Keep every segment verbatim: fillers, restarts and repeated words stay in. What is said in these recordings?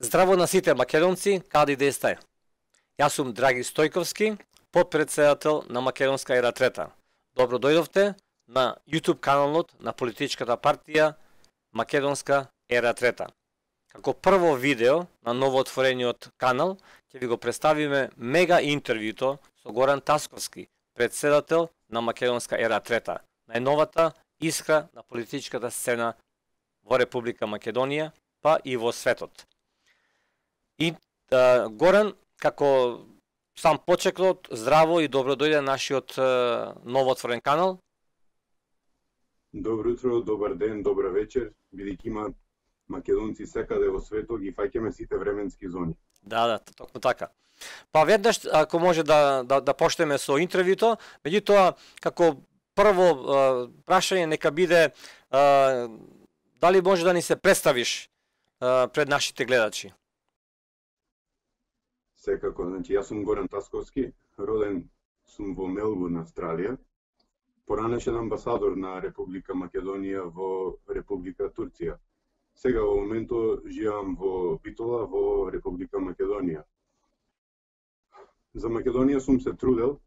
Здраво на сите македонци, каде да сте. Јас сум Драги Стојковски, подпредседател на Македонска ера трета. Добро дојдовте на YouTube каналот на политичката партија Македонска ера трета. Како прво видео на новоотворениот канал, ќе ви го представиме мега интервјуто со Горан Тасковски, председател на Македонска ера трета, најновата искра на политичката сцена во Република Македонија, па и во светот. И а, Горан, како сам почеклот, здраво и добро дојде нашиот а, новоотворен канал. Добро утро, добар ден, добра вечер, бидејќи има македонци секаде во светот, ги фаќаме сите временски зони. Да, да, токму така. Па веднаш, ако може да, да, да почнеме со интервјуто, меѓутоа, како прво а, прашање нека биде а, дали може да ни се представиш а, пред нашите гледачи? Секако, значи јас сум Горан Тасковски, роден сум во Мелбурн, Австралија, поранешен амбасадор на Република Македонија во Република Турција. Сега во моментот живеам во Битола во Република Македонија. За Македонија сум се трудел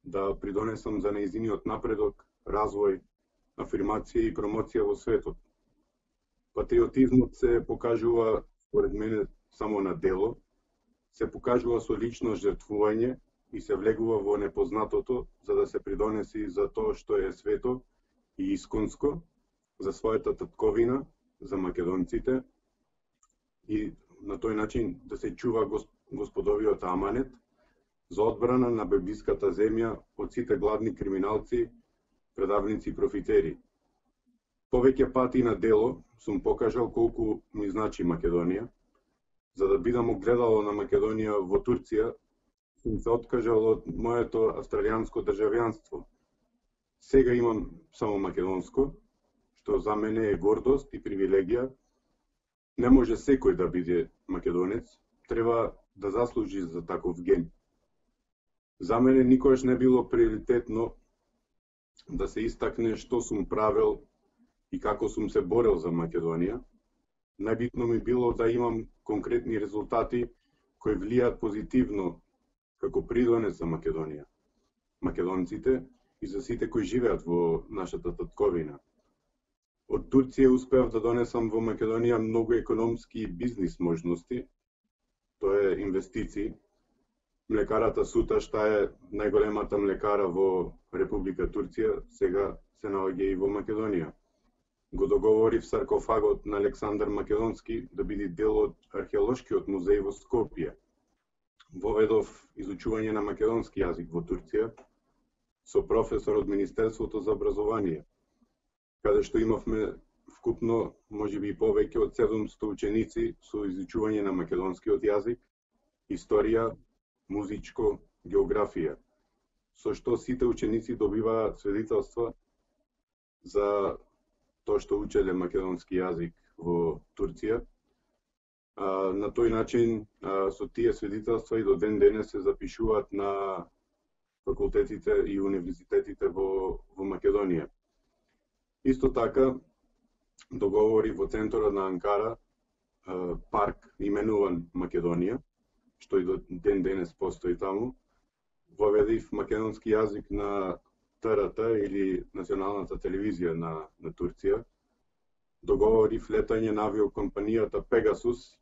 да придонесам за нејзиниот напредок, развој, афирмација и промоција во светот. Патриотизмот се покажува, според мене, само на дело, се покажува со лично жртвување и се влегува во непознатото за да се придонеси за тоа што е свето и исконско, за својата татковина, за македонците и на тој начин да се чува господовиот аманет за одбрана на бебиската земја од сите гладни криминалци, предавници и профитери. Повеќе пати на дело сум покажал колку ми значи Македонија. За да бидам огледало на Македонија во Турција, сум се откажал од моето австралијанско државјанство. Сега имам само македонско, што за мене е гордост и привилегија. Не може секој да биде македонец, треба да заслужи за таков ген. За мене никогаш не било приоритетно да се истакне што сум правел и како сум се борел за Македонија. Најбитно ми било да имам конкретни резултати кои влијаат позитивно како придонес за Македонија, македонците и за сите кои живеат во нашата татковина. Од Турција успеав да донесам во Македонија многу економски и бизнис можности, тоа е инвестиции. Млекарата Сута, што е најголемата млекара во Република Турција, сега се наоѓа и во Македонија. Го договорив саркофагот на Александар Македонски да биде дел од археолошкиот музеј во Скопје. Воведов изучување на македонски јазик во Турција со професор од Министерството за образование, каде што имавме вкупно можеби повеќе од седумстотини ученици со изучување на македонскиот јазик, историја, музичко, географија, со што сите ученици добиваат свидетелства за тоа што учеле македонски јазик во Турција. А, на тој начин, а, со тие свидетелства и до ден денес се запишуваат на факултетите и универзитетите во, во Македонија. Исто така, договори во центарот на Анкара, а, парк именуван Македонија, што и до ден денес постои таму. Воведив македонски јазик на Т Р Т или националната телевизија на, на Турција. Договорив летање на авиокомпанијата Пегасус,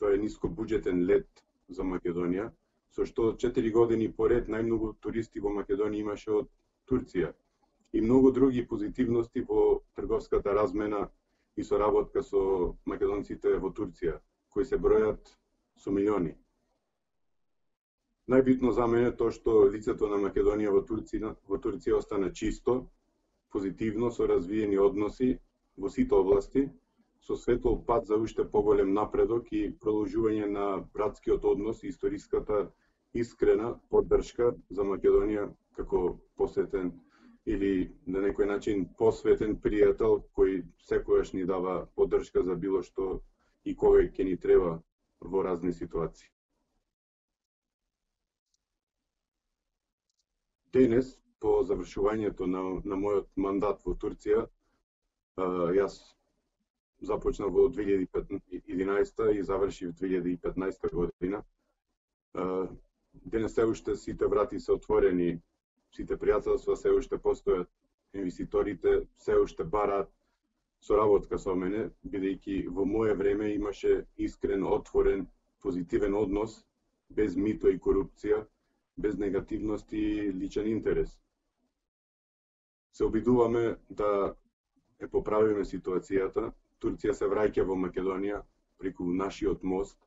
тоа е нискобуџетен лет за Македонија, со што четири години поред најмногу туристи во Македонија имаше од Турција. И многу други позитивности во трговската размена и соработка со македонците во Турција, кои се бројат со милиони. Најбитно за мене тоа што лицето на Македонија во Турција, во Турција остана чисто, позитивно, со развиени односи во сите области, со светол пат за уште поголем напредок и продолжување на братскиот однос и историската искрена поддршка за Македонија како посетен или на некој начин посветен пријател кој секогаш ни дава поддршка за било што и кога ќе ни треба во разни ситуации. Денес, по завршувањето на, на мојот мандат во Турција, јас започна во две илјади и единаесета и заврши во две илјади и петнаесета година. Денес се уште сите врати се отворени, сите пријателства се уште постојат, инвеститорите се уште бараат соработка со мене, бидејќи во мое време имаше искрен, отворен, позитивен однос, без мито и корупција, без негативност и личен интерес. Се обидуваме да е поправиме ситуацијата. Турција се враќа во Македонија преку нашиот мост,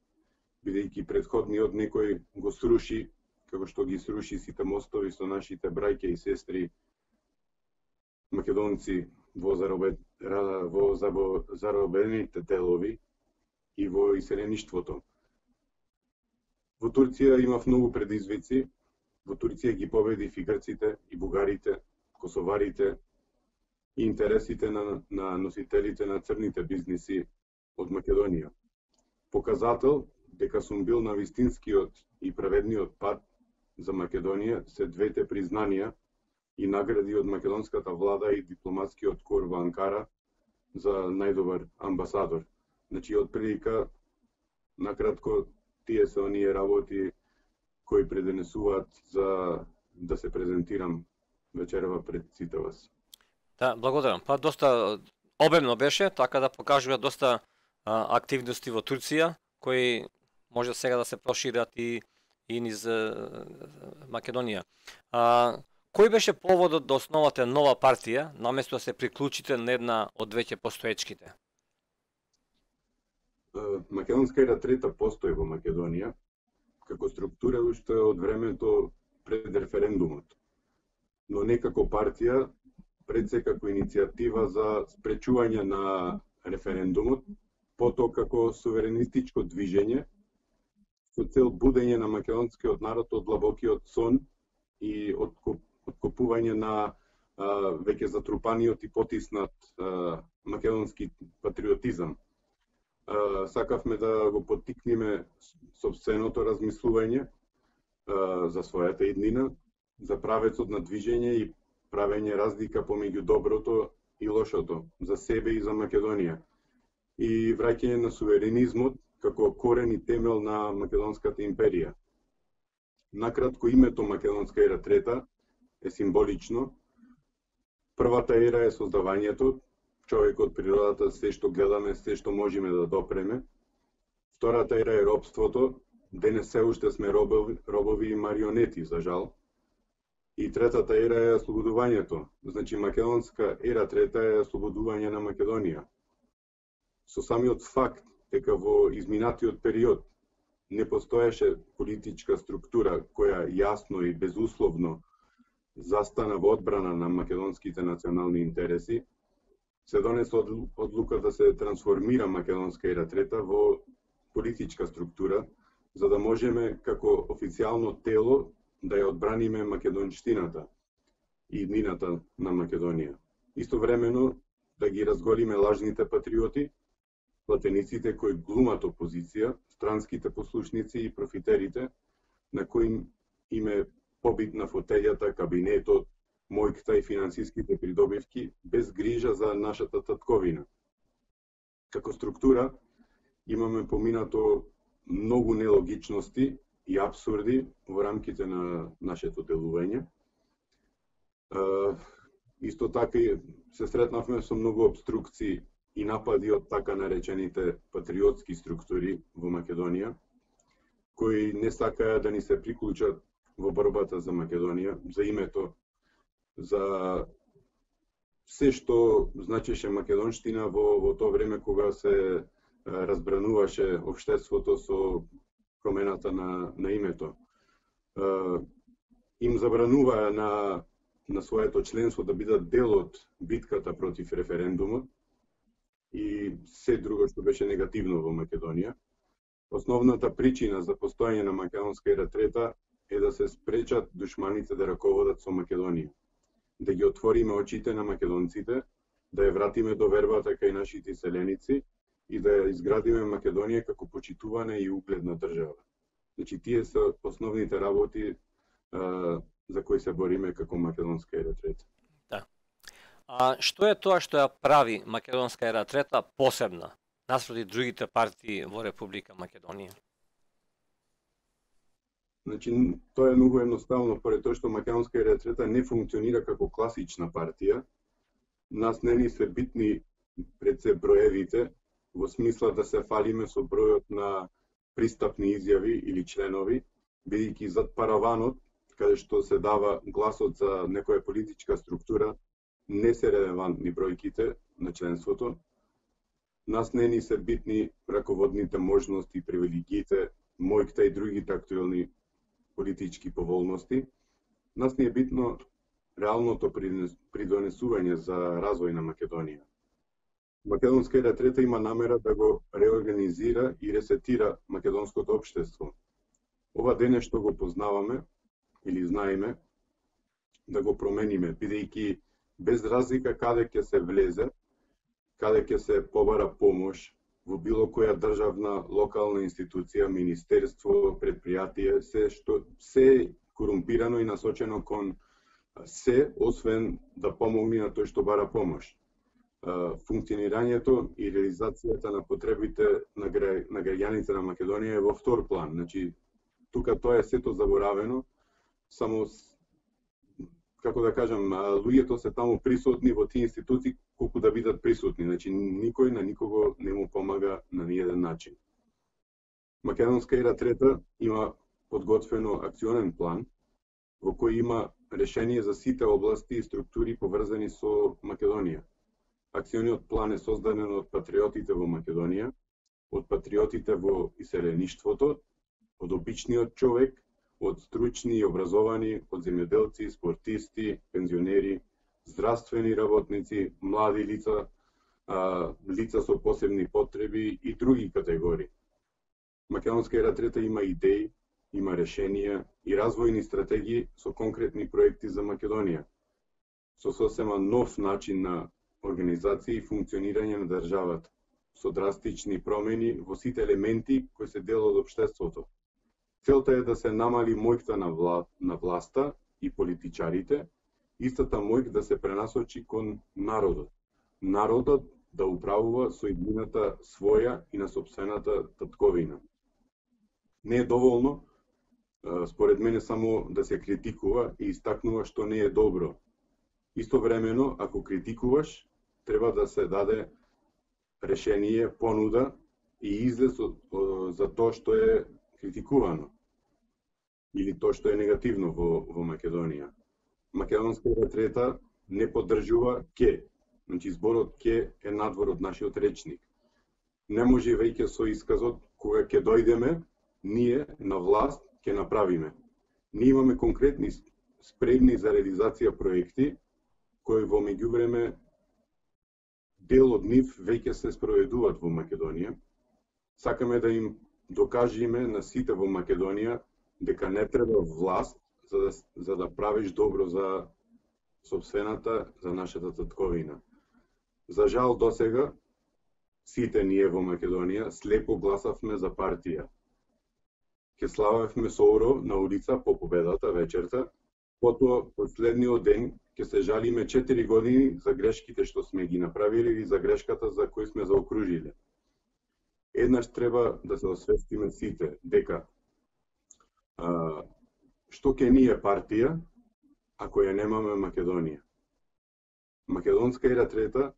бидејќи претходниот некој го сруши, како што ги сруши сите мостови со нашите браќа и сестри македонци во, заробе, во заробените делови и во иселеништвото. Во Турција имав многу предизвици. Во Турција ги победив и грците, и бугарите, косоварите, и интересите на, на носителите на црните бизниси од Македонија. Показател дека сум бил на вистинскиот и праведниот пат за Македонија се двете признанија и награди од македонската влада и дипломатскиот кор во Анкара за најдобар амбасадор. Значи, од прилика, накратко, тие се оние работи кои преденесуваат за да се презентирам вечерва пред сите вас. Да, благодарам. Па доста обемно беше, така да покажува доста а, активности во Турција, кои може сега да се прошират и, и низ а, Македонија. А, кој беше поводот да основате нова партија, наместо да се приклучите на една од веќе постоечките? Македонска ера трета постои во Македонија, како структура уште од времето пред референдумот, но не како партија, пред се како иницијатива за спречување на референдумот, потоа како суверенистичко движење, со цел будење на македонскиот народ од длабокиот сон и откопување на а, веќе затрупаниот и потиснат а, македонски патриотизам. А, сакавме да го поттикнеме сопственото размислување а, за својата иднина, за правецот на движење и правење разлика помеѓу доброто и лошото, за себе и за Македонија. И враќање на суверенизмот како корен и темел на Македонската империја. Накратко, името Македонска ера трета е символично. Првата ера е создавањето, човекот, природата, се што гледаме, се што можеме да допреме. Втората ера е робството, денес се уште сме робови, робови и марионети, за жал. И третата ера е ослободувањето. Значи, Македонска ера трета е ослободување на Македонија. Со самиот факт дека во изминатиот период не постоеше политичка структура која јасно и безусловно застана во одбрана на македонските национални интереси, се донесе одлука да се трансформира Македонска ера трета во политичка структура, за да можеме како официјално тело да ја одбраниме македонштината и иднината на Македонија. Истовремено да ги разголиме лажните патриоти, платениците кои глумат опозиција, странските послушници и профитерите на кои им е побитна фотелјата, кабинетот, мојката и финансиските придобивки, без грижа за нашата татковина. Како структура имаме поминато многу нелогичности и абсурди во рамките на нашето делување. Исто така се сретнавме со многу обструкции и напади од така наречените патриотски структури во Македонија, кои не сакаја да ни се приклучат во борбата за Македонија, за името, за се што значеше македонштина во, во тоа време кога се разбрануваше општеството со промената на, на името. Им забрануваа на, на своето членство да бидат дел од битката против референдумот и се друго што беше негативно во Македонија. Основната причина за постојање на Македонска ера трета е да се спречат душманите да раководат со Македонија, да ги отвориме очите на македонците, да ја вратиме довербата кај нашите селеници и да ја изградиме Македонија како почитувана и угледна држава. Значи, тие се основните работи а, за кои се бориме како Македонска ера трета. Да. А што е тоа што ја прави Македонска ера трета посебна наспроти другите партии во Република Македонија? Значи, тоа е многу едноставно, поради тоа што Македонска ера трета не функционира како класична партија. Нас не ни се битни пред се броевите, во смисла да се фалиме со бројот на пристапни изјави или членови, бидејќи зад параванот, каде што се дава гласот за некоја политичка структура, не се релевантни бројките на членството. Нас не ни се битни раководните можности, привилегиите, мојките и другите актуелни политички поволности. Нас ни е битно реалното придонесување за развој на Македонија. Македонска ера трета има намера да го реорганизира и ресетира македонското општество. Ова дене што го познаваме или знаеме, да го промениме, бидејќи без разлика каде ќе се влезе, каде ќе се побара помош, во било која државна, локална институција, министерство, предпријатие, се што се корумпирано и насочено кон се, освен да помогне на тој што бара помош. Функционирањето и реализацијата на потребите на, гра... на граѓаните на Македонија е во втор план. Значи, тука тоа е сето заборавено, само, како да кажам, луѓето се таму присутни во тие институции колку да бидат присутни. Значи, никој на никого не му помага на ниеден начин. Македонска ера трета има подготвено акционен план, во кој има решение за сите области и структури поврзани со Македонија. Акциониот план е создаден од патриотите во Македонија, од патриотите во иселеништвото, од обичниот човек, од стручни и образовани, од земјоделци, спортисти, пензионери, здравствени работници, млади лица, а, лица со посебни потреби и други категории. Македонска ера трета има идеи, има решенија и развојни стратегии со конкретни проекти за Македонија, со сосема нов начин на организација и функционирање на државата, со драстични промени во сите елементи кои се дел од општеството. Целта е да се намали мојката на, вла... на власта и политичарите, истата мојк да се пренасочи кон народот. Народот да управува со иднината своја и на сопствената татковина. Не е доволно, според мене, само да се критикува и истакнува што не е добро. Истовремено, ако критикуваш, треба да се даде решение, понуда и излез за тоа што е критикувано или тоа што е негативно во, во Македонија. Македонска ера трета не поддржува ке. Значи, зборот ке е надвор од нашиот речник. Не може веќе со исказот кога ќе дојдеме, ние на власт ќе направиме. Ние имаме конкретни спремни за реализација проекти, кои во меѓувреме дел од нив веќе се спроведуваат во Македонија. Сакаме да им докажеме на сите во Македонија дека не треба власт за да, за да правиш добро за сопствената, за нашата татковина. За жал досега, сите ние во Македонија слепо гласавме за партија. Ке славевме соуро на улица по победата вечерта, потоа последниот ден ќе се жалиме четири години за грешките што сме ги направиле или за грешката за кој сме заокружиле. Еднаш треба да се освестиме сите дека а, што ќе ни е партија ако ја немаме Македонија. Македонска ера трета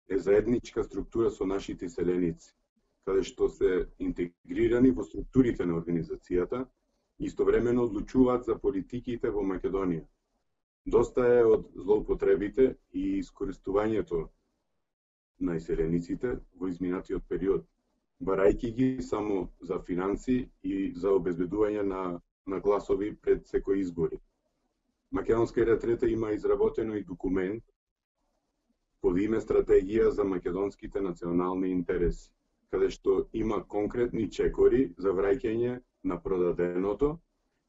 е заедничка структура со нашите селеници, каде што се интегрирани во структурите на организацијата и истовремено одлучуваат за политиките во Македонија. Доста е од злоупотребите и искористувањето на иселениците во изминатиот период, барајќи ги само за финанси и за обезбедување на, на гласови пред секои избори. Македонска ера трета има изработено и документ под име Стратегија за македонските национални интереси, каде што има конкретни чекори за враќање на продаденото,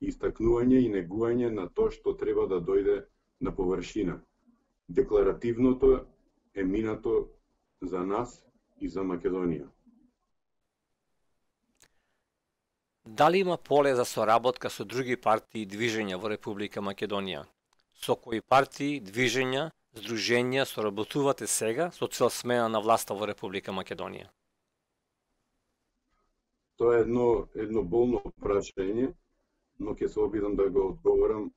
истакнување и негување на тоа што треба да дојде на површина. Декларативното е минато за нас и за Македонија. Дали има поле за соработка со други партии и движења во Република Македонија? Со кои партии, движења здруженија соработувате сега со цел смена на власта во Република Македонија? Тоа е едно, едно болно прашање, но ќе се обидам да го одговорам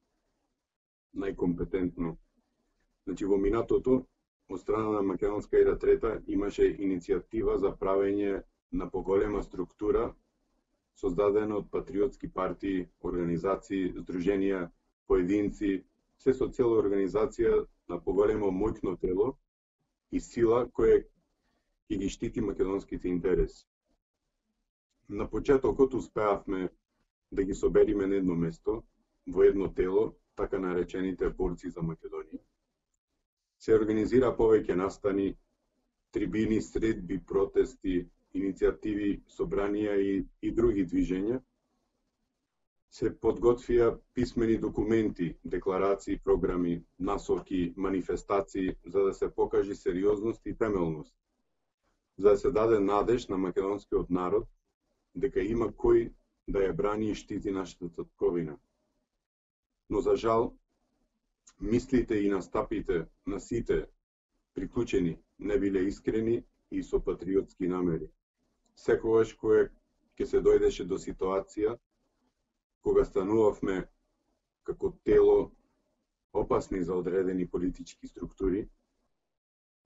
најкомпетентно. Значи, во минатото, од страна на Македонска ера трета имаше иницијатива за правење на поголема структура, создадена од патриотски партии, организации, здруженија, поединци, се со цела организација на поголемо моќно тело и сила која ќе ги штити македонските интереси. На почетокот успеавме да ги собериме на едно место, во едно тело, така наречените борци за Македонија. Се организира повеќе настани, трибини, средби, протести, иницијативи, собранија и, и други движења. Се подготвија писмени документи, декларации, програми, насоки, манифестации, за да се покажи сериозност и темелност, за да се даде надеж на македонскиот народ дека има кој да ја брани и штити нашата татковина. Но за жал, мислите и настапите на сите приклучени не биле искрени и со патриотски намери. Секогаш кога ќе се дојдеше до ситуација кога станувавме како тело опасни за одредени политички структури,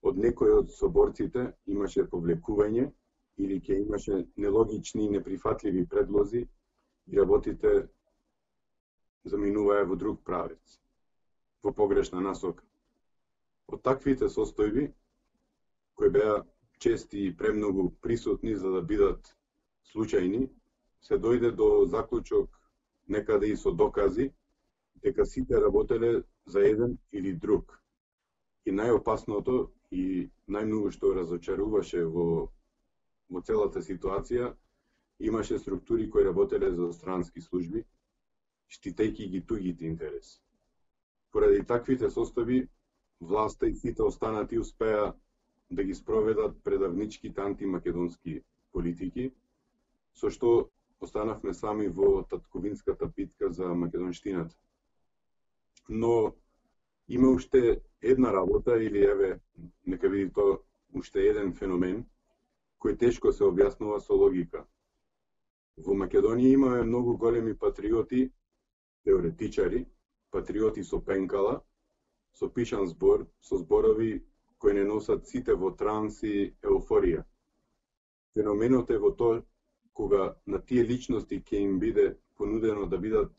од некој од соборците имаше повлекување или ќе имаше нелогични и неприфатливи предлози и работите заминуваа во друг правец, во погрешна насока. Од таквите состојби, кои беа чести и премногу присутни за да бидат случајни, се дојде до заклучок некаде и со докази дека сите работеле за еден или друг. И најопасното и најмногу што разочаруваше во во целата ситуација, имаше структури кои работеле за странски служби, штитејќи ги тугите интереси. Поради таквите состојби, власта и сите останати успеа да ги спроведат предавничките антимакедонски политики, со што останавме сами во татковинската битка за македонштината. Но има уште една работа, или еве, нека види тоа, уште еден феномен, кој тешко се објаснува со логика. Во Македонија имаме многу големи патриоти, теоретичари, патриоти со пенкала, со пишан збор, со зборови кои не носат сите во транс и еуфорија. Феноменот е во тоа кога на тие личности ќе им биде понудено да бидат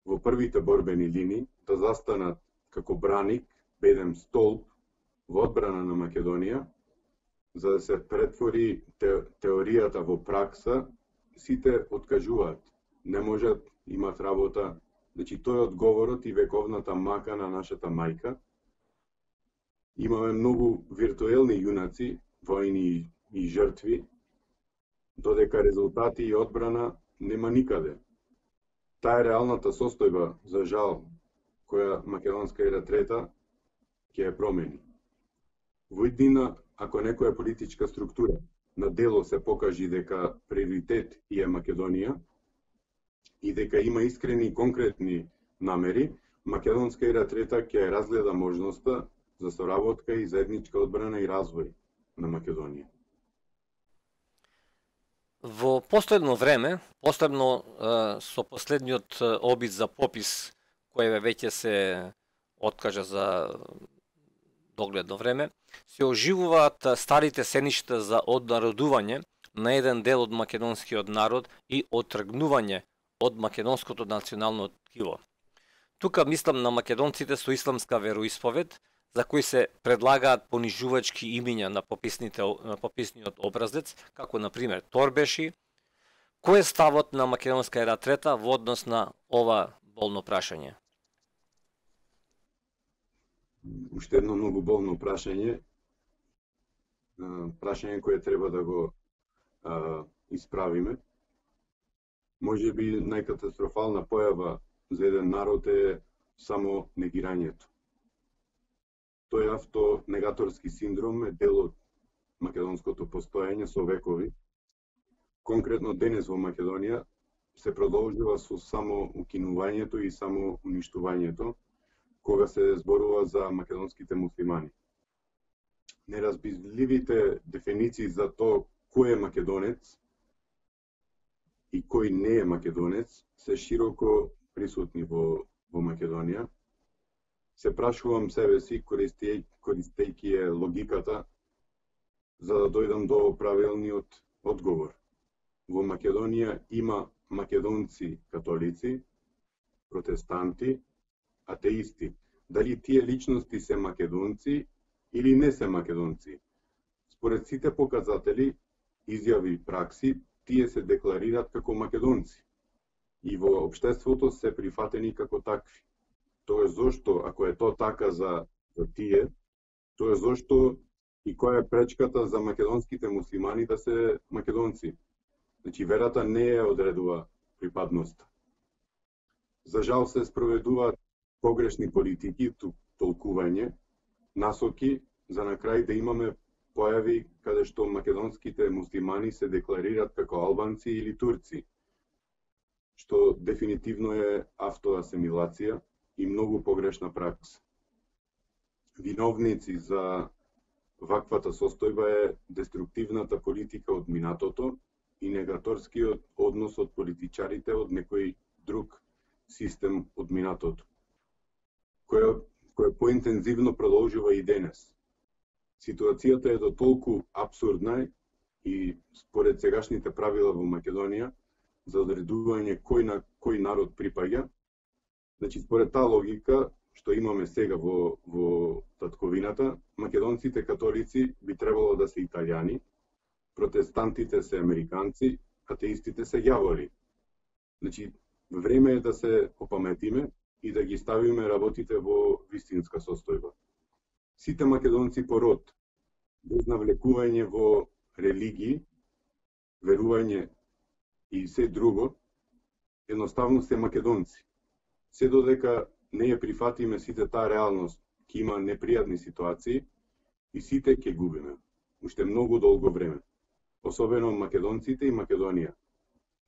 во првите борбени линии, да застанат како браник, бедем столб во одбрана на Македонија, за да се претвори те, теоријата во пракса, сите откажуваат. Не можат, имат работа. Значи, тој е одговорот и вековната мака на нашата мајка. Имаме многу виртуелни јунаци, војни и жртви, додека резултати и одбрана нема никаде. Таа е реалната состојба, за жал, која Македонска ера трета ќе ја промени. Во иднина, ако некоја политичка структура на дело се покажи дека приоритет е Македонија и дека има искрени и конкретни намери, Македонска ера трета ќе ја разгледа можноста за соработка и заедничка одбрана и развој на Македонија. Во последно време, посебно е, со последниот обид за попис кој веќе се откажа за догледно време, се оживуваат старите сеништа за однародување на еден дел од македонскиот народ и оттргнување од македонското национално ткиво. Тука мислам на македонците со исламска вероисповед, за кои се предлагаат понижувачки имиња на пописните на пописниот образец, како на пример Торбеши. Кој е ставот на Македонска ера трета во однос на ова болно прашање? Уште едно многу болно прашање. Прашање кое треба да го а, исправиме. Може би најкатастрофална појава за еден народ е само негирањето. Тој автонегаторски синдром е дел од македонското постоење со векови. Конкретно денес во Македонија се продолжува со само укинувањето и само уништувањето, кога се зборува за македонските муслимани. Неразбирливите дефиниции за тоа кој е македонец и кој не е македонец се широко присутни во, во Македонија. Се прашувам себе си, користејќи користејќи е логиката, за да дојдам до правилниот одговор. Во Македонија има македонци католици, протестанти, атеисти. Дали тие личности се македонци или не се македонци? Според сите показатели, изјави и пракси, тие се декларираат како македонци и во општеството се прифатени како такви. Тоа е зошто, ако е тоа така за, за тие, тоа е зошто и која е пречката за македонските муслимани да се македонци. Значи, верата не е одредува припадноста. За жал се спроведуваат погрешни политики, толкување, насоки, за на крај да имаме појави каде што македонските муслимани се декларираат како албанци или турци, што дефинитивно е автоасимилација и многу погрешна пракса. Виновници за ваквата состојба е деструктивната политика од минатото и негаторскиот однос од политичарите од некој друг систем од минатото, кој, кој поинтензивно продолжува и денес. Ситуацијата е до толку абсурдна и според сегашните правила во Македонија за одредување кој на кој народ припаѓа. Значи, според таа логика што имаме сега во, во татковината, македонците католици би требало да се италијани, протестантите се американци, атеистите се ѓаволи. Значи, време е да се опаметиме и да ги ставиме работите во вистинска состојба. Сите македонци по род, без навлекување во религии, верување и се друго, едноставно се македонци. Се додека не ја прифатиме сите таа реалност, ќе има непријатни ситуации и сите ќе губиме. Уште многу долго време. Особено македонците и Македонија.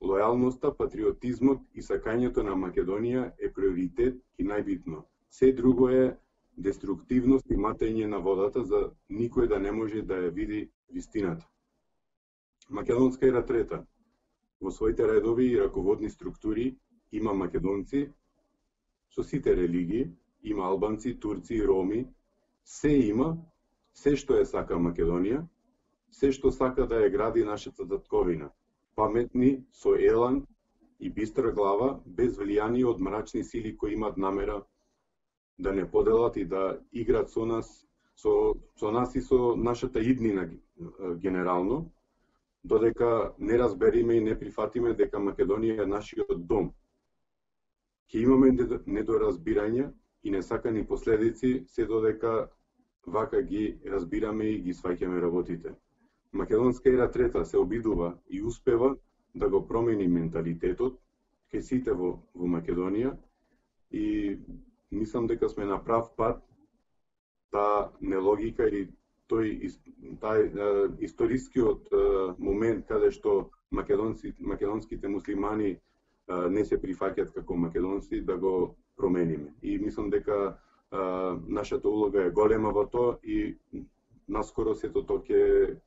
Лојалноста, патриотизмот и сакањето на Македонија е приоритет и најбитно. Се друго е деструктивност и матење на водата за никој да не може да ја види вистината. Македонска ера трета. Во своите редови и раководни структури има македонци со сите религии, има албанци, турци, роми, се има, се што е сака Македонија, се што сака да ја гради нашата татковина. Паметни, со елан и бистра глава, без влијание од мрачни сили кои имат намера да не поделат и да играат со нас, со, со нас и со нашата иднина генерално, додека не разбериме и не прифатиме дека Македонија е нашиот дом. Ќе имаме недоразбирање и несакани последици се додека вака ги разбираме и ги сваќаме работите. Македонска ера трета се обидува и успева да го промени менталитетот кај сите во, во Македонија и мислам дека сме на прав пат. Таа нелогика или тој тај историскиот момент каде што македонци македонските муслимани не се прифаќаат како македонци, да го промениме. И мислам дека а, нашата улога е голема во тоа и наскоро сето тоа ќе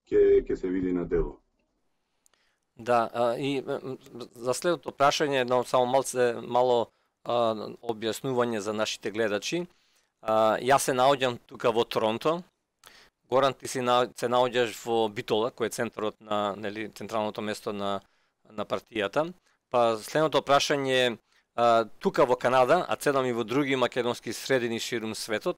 ќе ќе се види на дело. Да, а, и за следното прашање едно само малце мало а, објаснување за нашите гледачи. А, јас се наоѓам тука во Торонто. Горан, ти си на, се наоѓаш во Битола, кој е центарот на, нели, централното место на на партијата. Па следното прашање, а, тука во Канада, а цедам и во други македонски средини ширум светот,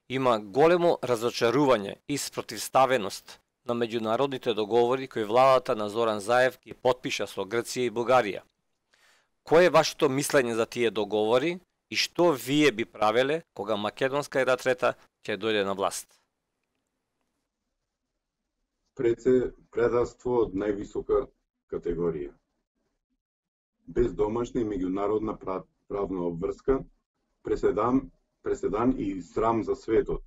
има големо разочарување и спротивставеност на меѓународните договори кои владата на Зоран Заев ги потпиша со Грција и Бугарија. Кој е вашето мислење за тие договори и што вие би правеле кога македонска ера трета ќе дојде на власт? Пред се предавство од највисока категорија. Без домашна и меѓународна правна обврска, преседан, преседан и срам за светот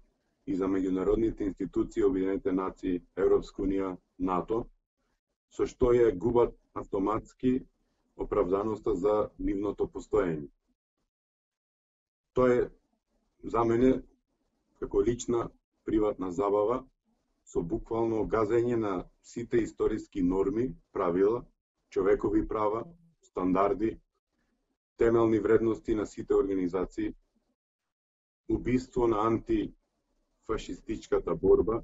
и за меѓународните институции, Обединените нации, Европска унија, НАТО, со што ја губат автоматски оправданоста за нивното постоење. Тоа е за мене како лична приватна забава со буквално газење на сите историски норми, правила, човекови права, стандарди, темелни вредности на сите организации, убиство на антифашистичката борба,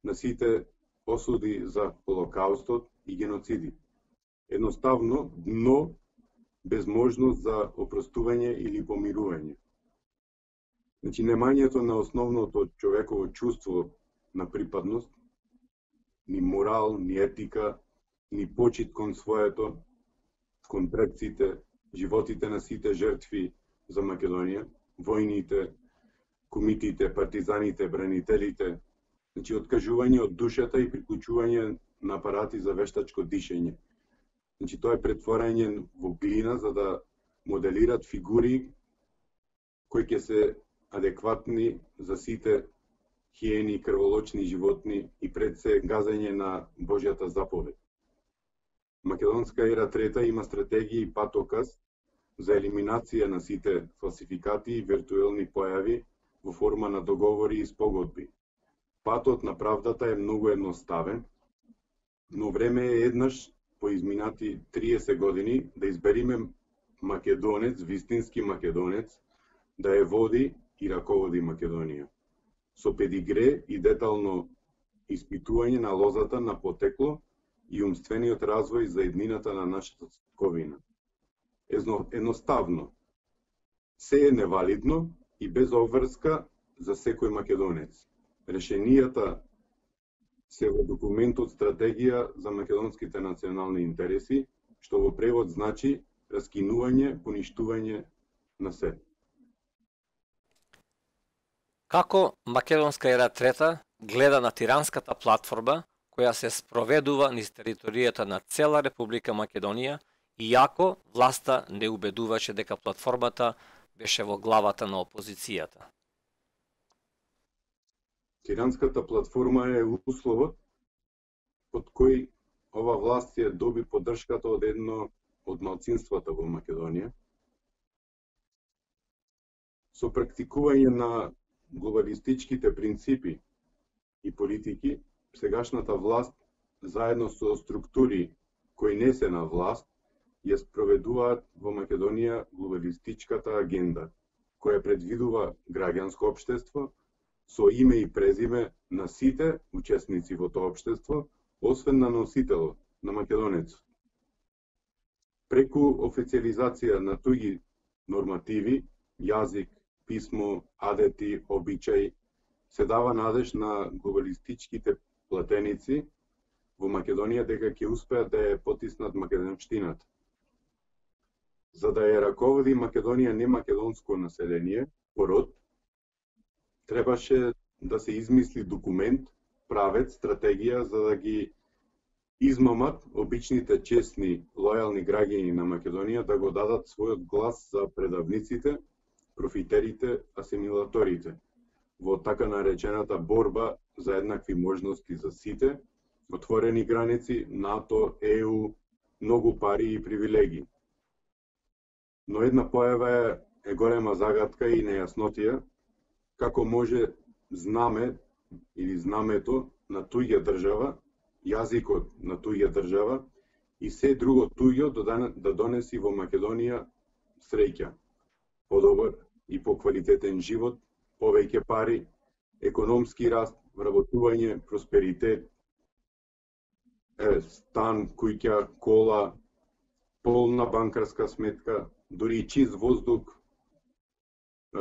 на сите осуди за Холокаустот и геноциди. Едноставно, дно без можност за опростување или помирување. Значи, немањето на основното човеково чувство на припадност, ни морал, ни етика, ни почит кон своето, кон предците, животите на сите жртви за Македонија, војните, кумитите, партизаните, бранителите, значи откажување од душата и приклучување на апарати за вештачко дишење. Значи тоа е претворање во глина за да моделират фигури кои ќе се адекватни за сите хиени, крволочни животни и пред се газење на Божјата заповед. Македонска ера трета има стратегија и патоказ за елиминација на сите фалсификати и виртуелни појави во форма на договори и спогодби. Патот на правдата е многу едноставен, но време е еднаш по изминати триесет години да избериме македонец, вистински македонец, да ја води и раководи Македонија. Со педигре и детално испитување на лозата на потекло и умствениот развој за еднината на нашата светковина. Едноставно, се е невалидно и без обврска за секој македонец. Решенијата се во документот Стратегија за македонските национални интереси, што во превод значи раскинување, поништување на се. Како Македонска ера трета гледа на тиранската платформа која се спроведува низ територијата на цела Република Македонија, иако власта не убедуваше дека платформата беше во главата на опозицијата? Тиранската платформа е условот под кој ова власт ја доби поддршката од едно од малцинствата во Македонија. Со практикување на глобалистичките принципи и политики, сегашната власт, заедно со структури кои не се на власт, ја спроведуваат во Македонија глобалистичката агенда, која предвидува граѓанско општество со име и презиме на сите учесници во тоа општество, освен на носителот, на македонецот. Преку официализација на туѓи нормативи, јазик, писмо, адети, обичаи, се дава надеж на глобалистичките платеници во Македонија дека ќе успеат да ја потиснат македонштината. За да ја раководи Македонија немакедонско население, пород, требаше да се измисли документ, правец, стратегија за да ги измамат обичните, честни, лојални граѓани на Македонија да го дадат својот глас за предавниците, профитерите, асимилаторите, во така наречената борба за еднакви можности за сите, отворени граници, НАТО, Е У, многу пари и привилегии. Но една појава е, е голема загадка и нејаснотија, како може знаме или знамето на туѓа држава, јазикот на туѓа држава и се друго туѓо да донеси во Македонија среќа, подобар и поквалитетен живот, повеќе пари, економски раст, вработување, просперитет, е, стан, куќа, кола, полна банкарска сметка, дури и чист воздух, е,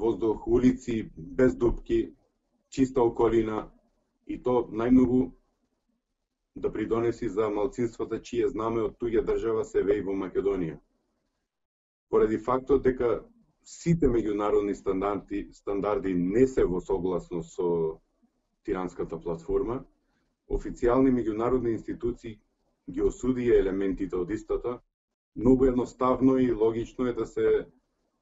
воздух, улици без дупки, чиста околина и то најмногу да придонеси за малцинствата чие знаме од туѓа држава се веи во Македонија. Поради фактот дека сите меѓународни стандарди, стандарди не се во согласност со тиранската платформа, официјални меѓународни институции ги осудија елементите од истата, многу едноставно и логично е да се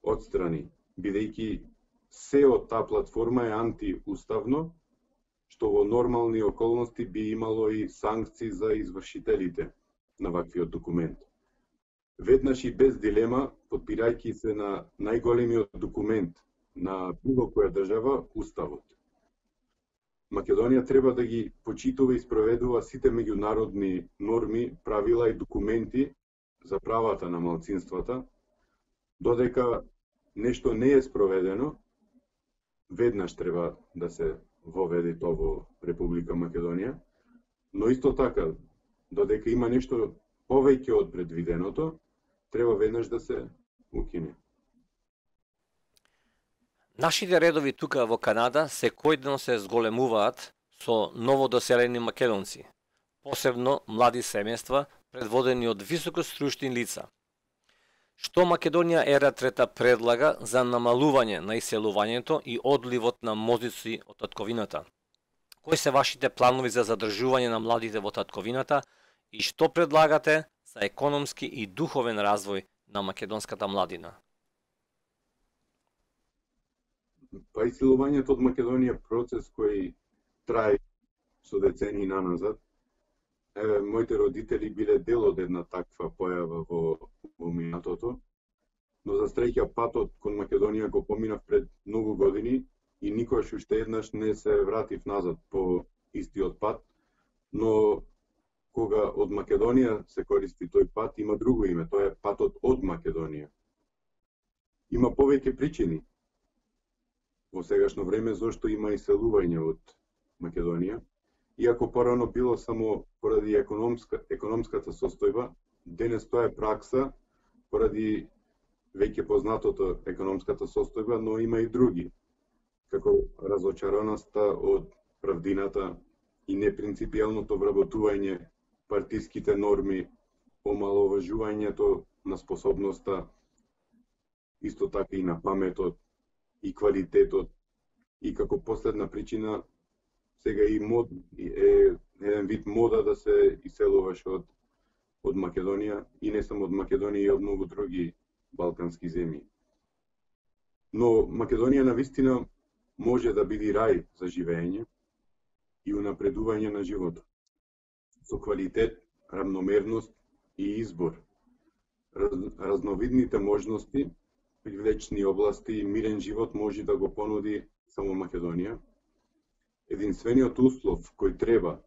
отстрани, бидејќи се од таа платформа е антиуставно, што во нормални околности би имало и санкции за извршителите на ваквиот документ. Веднаш и без дилема, подпирајќи се на најголемиот документ на било која држава уставот. Македонија треба да ги почитува и спроведува сите меѓународни норми, правила и документи за правата на малцинствата. Додека нешто не е спроведено, веднаш треба да се воведе тоа во Република Македонија, но исто така, додека има нешто повеќе од предвиденото, треба веднаш да се укине. Нашите редови тука во Канада секојдневно се зголемуваат со новодоселени македонци, посебно млади семејства предводени од високостручни лица. Што Македонија ера трета предлага за намалување на иселувањето и одливот на мозици од татковината? Кои се вашите планови за задржување на младите во татковината и што предлагате за економски и духовен развој на македонската младина? Па иселувањето од Македонија е процес кој трае со децении наназад. Еве, моите родители биле дел од една таква појава во, во минатото, но за среќа патот кон Македонија го поминав пред многу години и никогаш уште еднаш не се вратив назад по истиот пат, но кога од Македонија се користи тој пат, има друго име, тоа е патот од Македонија. Има повеќе причини во сегашно време зашто има иселување од Македонија. Иако порано било само поради економска, економската состојба, денес тоа е пракса поради веќе познатото економската состојба, но има и други, како разочараноста од правдината и непринципијалното вработување, партиските норми, омаловажувањето на способноста, исто така и на паметот и квалитетот, и како последна причина сега и мод е еден вид мода да се иселуваш од од Македонија и не само од Македонија и од многу други балкански земји. Но Македонија навистина може да биде рај за живење и унапредување на животот. Со квалитет, равномерност и избор. Раз, разновидните можности, привлечни области и мирен живот може да го понуди само Македонија. Единствениот услов кој треба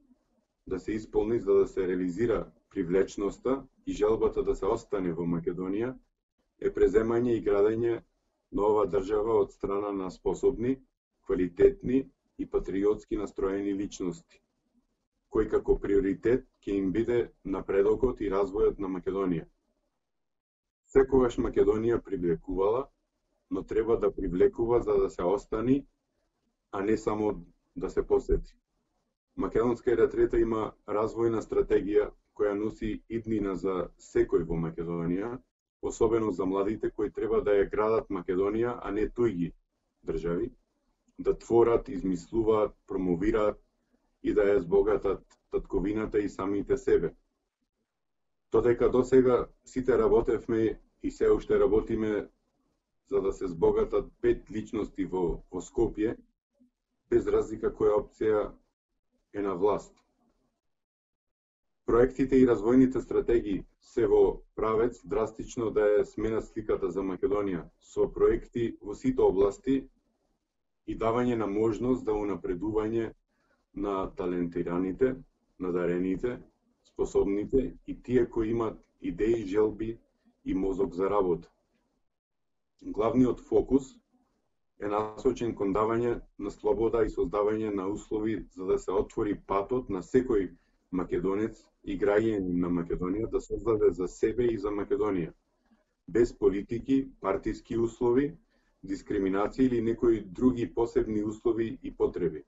да се исполни за да се реализира привлечноста и желбата да се остане во Македонија е преземање и градење на ова држава од страна на способни, квалитетни и патриотски настроени личности, кој како приоритет ќе им биде напредокот и развојот на Македонија. Секогаш Македонија привлекувала, но треба да привлекува за да се остани, а не само да се посети. Македонска ера трета има развојна стратегија која носи иднина за секој во Македонија, особено за младите кои треба да ја градат Македонија, а не туѓи држави, да творат, измислуваат, промовираат и да ја збогатат татковината и самите себе. Додека досега сите работевме и се уште работиме за да се збогатат пет личности во, во Скопје, без разлика која опција е на власт. Проектите и развојните стратегии се во правец драстично да ја сменат сликата за Македонија со проекти во сите области и давање на можност за унапредување на талентираните, надарените, способните и тие кои имат идеи, желби и мозок за работа. Главниот фокус е насочен кон давање на слобода и создавање на услови за да се отвори патот на секој македонец и граѓанин на Македонија да создаде за себе и за Македонија, без политики, партиски услови, дискриминација или некои други посебни услови и потреби.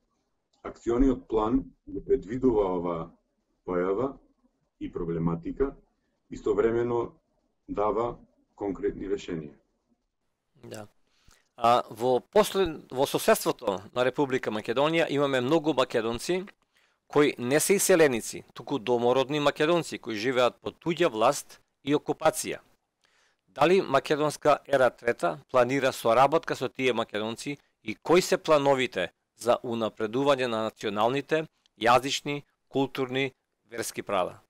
Акциониот план го предвидува ова појава и проблематика, истовремено дава конкретни решенија. Да. А, во послед, во соседството на Република Македонија имаме многу македонци кои не се иселеници, туку домородни македонци кои живеат под туѓа власт и окупација. Дали Македонска ера трета планира соработка со тие македонци и кои се плановите за унапредување на националните, јазични, културни, верски права?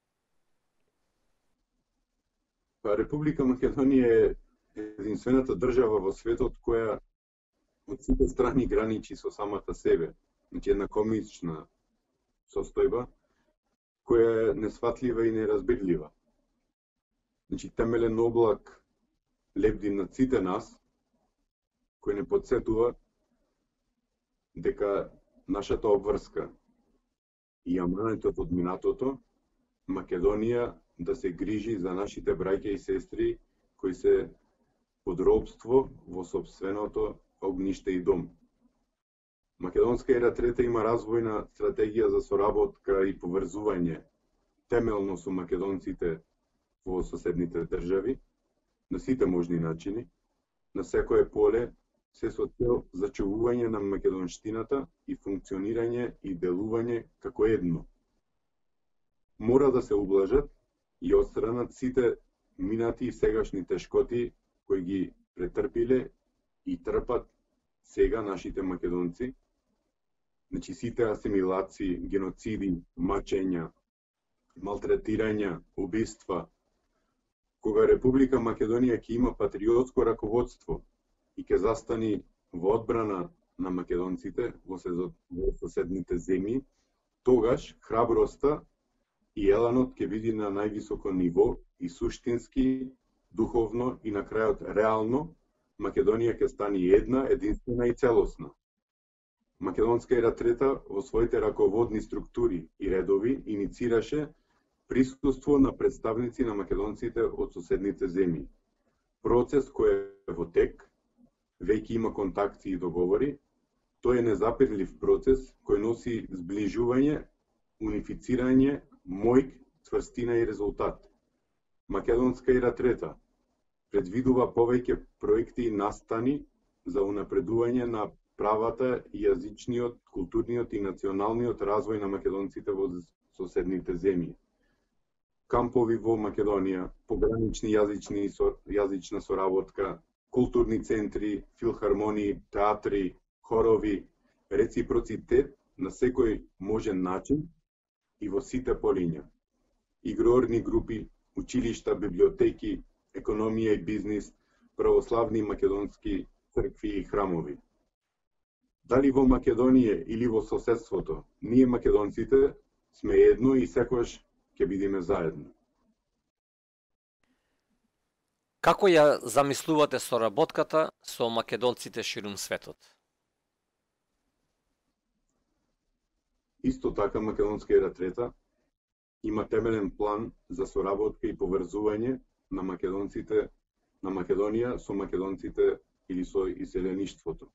Па Република Македонија е единствената држава во светот која од сите страни граничи со самата себе. Значи една комична состојба која е несфатлива и неразбирлива. Значи темелен облак лебди над сите нас, кој не подсетува дека нашата обврска и аманетот од минатото, Македонија да се грижи за нашите браќа и сестри кои се под робство во сопственото огниште и дом. Македонска ера трета има развојна стратегија за соработка и поврзување темелно со македонците во соседните држави, на сите можни начини, на секое поле, се со цел зачувување на македонштината и функционирање и делување како едно. Мора да се ублажат и отстранат сите минати и сегашни тешкоти кои ги претрпиле и трпат сега нашите македонци, значи сите асимилации, геноциди, мачења, малтретирања, убиства, кога Република Македонија ќе има патриотско раководство и ќе застани во одбрана на македонците во соседните земји, тогаш храброста и еланот ќе биде на највисоко ниво и суштински, духовно и на крајот реално, Македонија ќе стане една, единствена и целосна. Македонска ера трета во своите раководни структури и редови иницираше присуство на представници на македонците од соседните земји. Процес кој е во тек, веќе има контакти и договори, тој е незапирлив процес кој носи зближување, унифицирање, мојк, цврстина и резултат. Македонска ера трета предвидува повеќе проекти и настани за унапредување на правата, јазичниот, културниот и националниот развој на македонците во соседните земји. Кампови во Македонија, погранични јазични јазична соработка, културни центри, филхармонии, театри, хорови, реципроцитет на секој можен начин и во сите полиња. Игрорни групи, училишта, библиотеки, економија и бизнис, православни македонски цркви и храмови. Дали во Македонија или во соседството, ние македонците сме едно и секогаш ќе бидеме заедно. Како ја замислувате соработката со македонците ширум светот? Исто така Македонска ера трета има темелен план за соработка и поврзување на македонците на Македонија со македонците или со иселеништвото.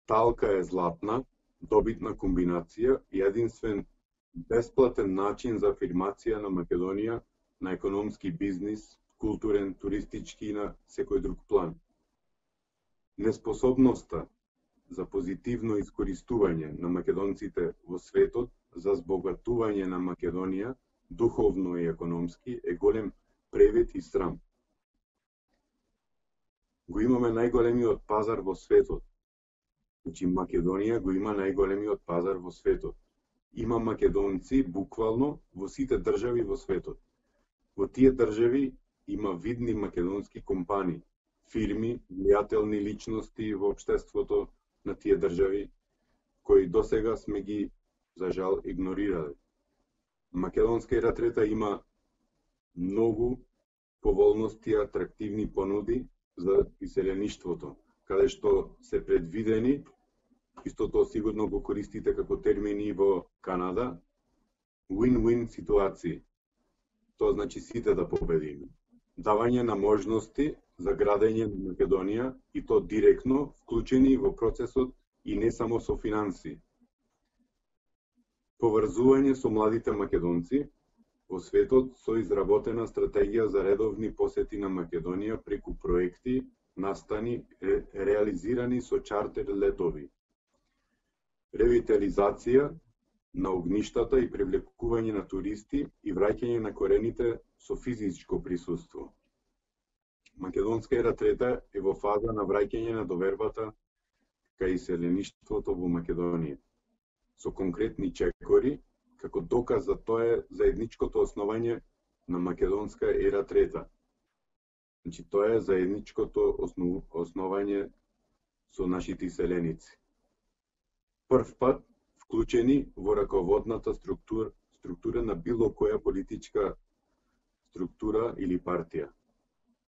Талка е златна, добитна комбинација и единствен бесплатен начин за афирмација на Македонија на економски бизнис, културен, туристички и на секој друг план. Неспособноста за позитивно искористување на македонците во светот за збогатување на Македонија духовно и економски е голем превет и срам. Го имаме најголемиот пазар во светот. Значи Македонија го има најголемиот пазар во светот. Има македонци буквално во сите држави во светот. Во тие држави има видни македонски компании, фирми, влијателни личности во општеството на тие држави, кои досега сме ги, за жал, игнорирале. Македонска ера трета има многу поволности и атрактивни понуди за иселеништвото, каде што се предвидени, истото сигурно го користите како термини во Канада, win-win ситуации. Тоа значи сите да победиме. Давање на можности за градење на Македонија и то директно вклучени во процесот и не само со финанси. Поврзување со младите македонци во светот со изработена стратегија за редовни посети на Македонија преку проекти, настани, ре, реализирани со чартер летови. Ревитализација на огништата и привлекување на туристи и враќање на корените со физичко присуство. Македонска ера трета е во фаза на враќање на довербата кај иселеништвото во Македонија, со конкретни чекори, како доказ за тоа е заедничкото основање на Македонска ера трета. Значи, тоа е заедничкото основ, основање со нашите иселеници. Прв пат вклучени во раководната структура, структура на било која политичка структура или партија.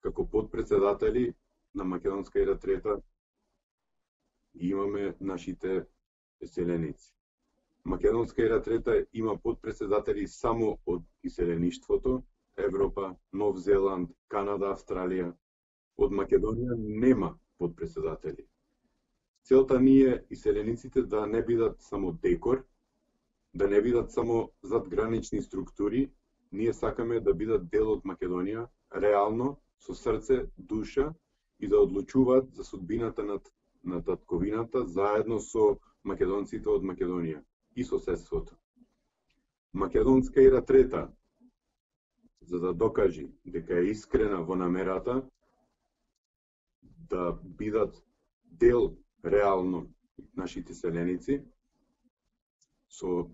Како подпредседатели на Македонска ера трета имаме нашите иселеници. Македонска ера трета има подпредседатели само од иселеништвото, Европа, Нов Зеланд, Канада, Австралија. Од Македонија нема подпредседатели. Целта ни е иселениците да не бидат само декор, да не бидат само задгранични структури, ние сакаме да бидат дел од Македонија, реално, со срце, душа и да одлучуваат за судбината на, на татковината заедно со македонците од Македонија и соседството. Македонска ера трета, за да докажи дека е искрена во намерата да бидат дел реално нашите селеници со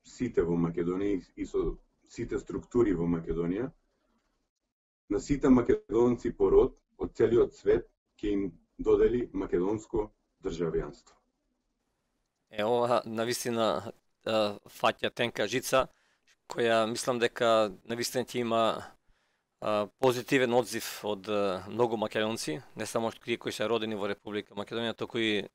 сите во Македонија и со сите структури во Македонија, на сите македонци по род од целиот свет ќе им додели македонско државјанство. Е, ова навистина фаќа тенка жица, која мислам дека навистина ќе има а, позитивен одзив од а, многу македонци, не само тие кои се родени во Република Македонија, туку и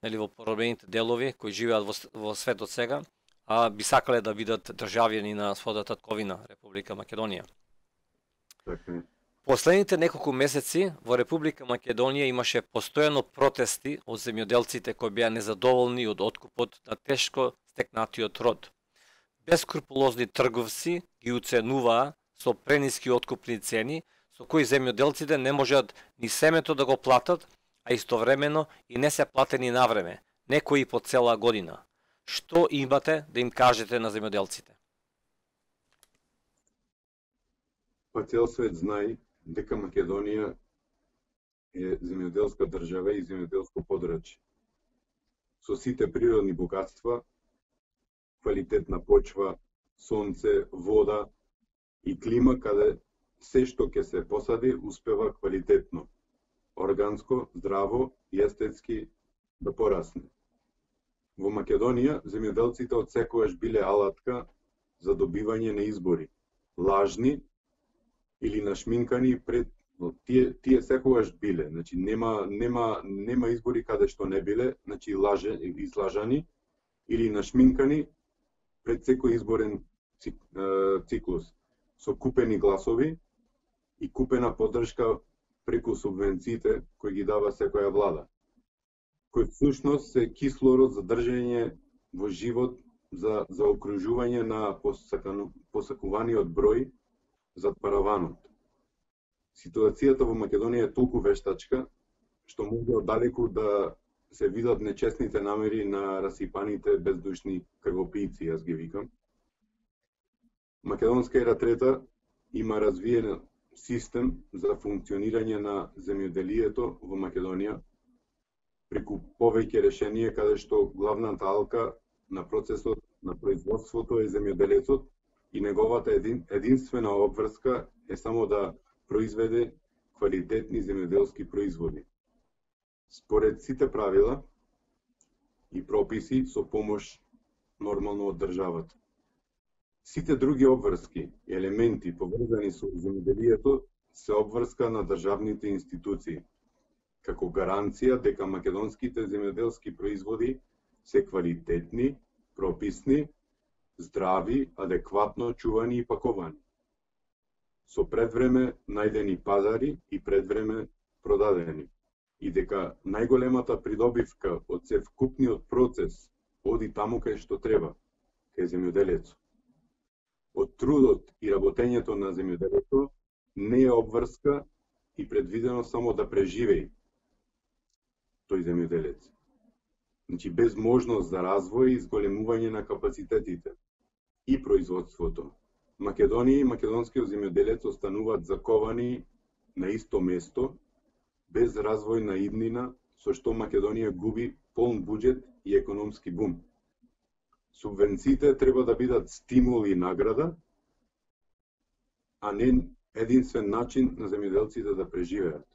нели во поробените делови кои живеат во, во светот сега, а би сакале да бидат државјани на својата татковина Република Македонија. Така. Последните неколку месеци во Република Македонија имаше постојано протести од земјоделците кои беа незадоволни од откупот на тешко стекнатиот род. Бескрупулозни трговци ги уценуваа со прениски откупни цени, со кои земјоделците не можат ни семето да го платат, а истовремено и не се платени навреме, некои по цела година. Што имате да им кажете на земјоделците? Па цел свет знае дека Македонија е земјоделска држава и земјоделско подрачје. Со сите природни богатства, квалитетна почва, сонце, вода и клима каде се што ќе се посади успева квалитетно, органско, здраво и естетски да порасне. Во Македонија земјоделците отсекогаш биле алатка за добивање на избори, лажни или нашминкани пред тие тие секогаш биле, значи нема нема нема избори каде што не биле, значи лаже излажани или нашминкани пред секој изборен циклус со купени гласови и купена поддршка преку субвенциите кои ги дава секоја влада, кој всушност се кислород за држање во живот за за окружување на посакану, посакуваниот број за параванот. Ситуацијата во Македонија е толку вештачка што може оддалеку да се видат нечестните намери на расипаните бездушни крвопијци, јас ги викам. Македонска ера трета има развиен систем за функционирање на земјоделието во Македонија преку повеќе решенија каде што главната алка на процесот на производството е земјоделецот и неговата един, единствена обврска е само да произведе квалитетни земјоделски производи. Според сите правила и прописи со помош нормално од државата. Сите други обврски и елементи поврзани со земјоделието се обврска на државните институции, како гаранција дека македонските земјоделски производи се квалитетни, прописни, здрави, адекватно чувани и паковани, со предвреме најдени пазари и предвреме продадени, и дека најголемата придобивка од севкупниот процес оди таму кај што треба, кај земјоделецот. Од трудот и работењето на земјоделецот не е обврска и предвидено само да преживеи тој земјоделец. Значи без можност за развој и зголемување на капацитетите и производството. Македонија и македонскиот земјоделец остануваат заковани на исто место, без развој на иднина, со што Македонија губи полн буџет и економски бум. Субвенциите треба да бидат стимул и награда, а не единствен начин на земјоделците да преживеат.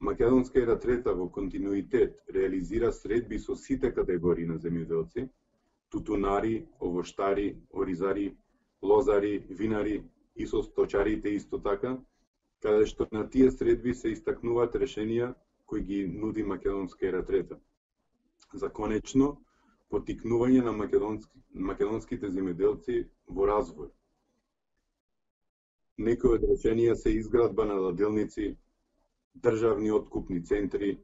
Македонска ера трета во континуитет реализира средби со сите категории на земјоделци, тутунари, овоштари, оризари, лозари, винари и со сточарите исто така, каде што на тие средби се истакнуваат решенија кои ги нуди Македонска ера трета. За конечно, поттикнување на македонски, македонските земјоделци во развој. Некои од решенија се изградба на ладилници, државни откупни центри,